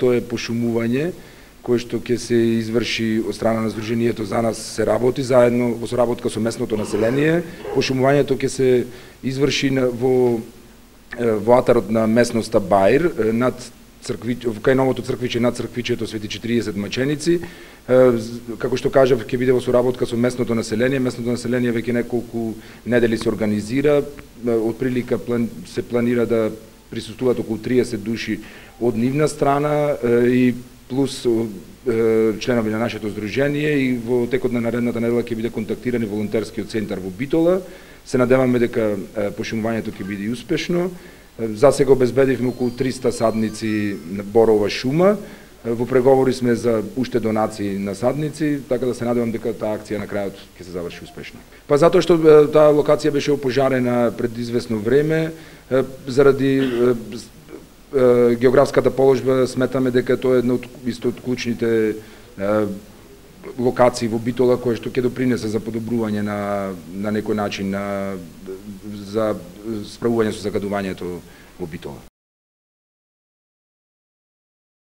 Тоа е пошумување кое што ќе се изврши од страна на Сдруженијето. За нас се работи заедно во соработка со местното население. Пошумувањето ќе се изврши во атарот на местноста Баир над кај новото црквиче, над црквичето Свети 40 маченици. Како што кажав, ќе биде во соработка со местното население. Местното население веќе неколку недели се организира. Отприлика се планира да присуствуваат околу 30 души од нивна страна и плюс членови на нашето здружение, и во текот на наредната недела ќе биде контактиран волонтерскиот центар во Битола. Се надеваме дека пошумувањето ќе биде успешно. За сега обезбедивме околу 300 садници на борова шума. Во преговори сме за уште донации на садници, така да се надевам дека таа акција на крајот ќе се заврши успешно. Па затоа што таа локација беше опожарена пред известно време, заради географската положба сметаме дека тоа е една од клучните локации во Битола која што ќе допринесе за подобрување на некој начин за справување со загадувањето во Битола.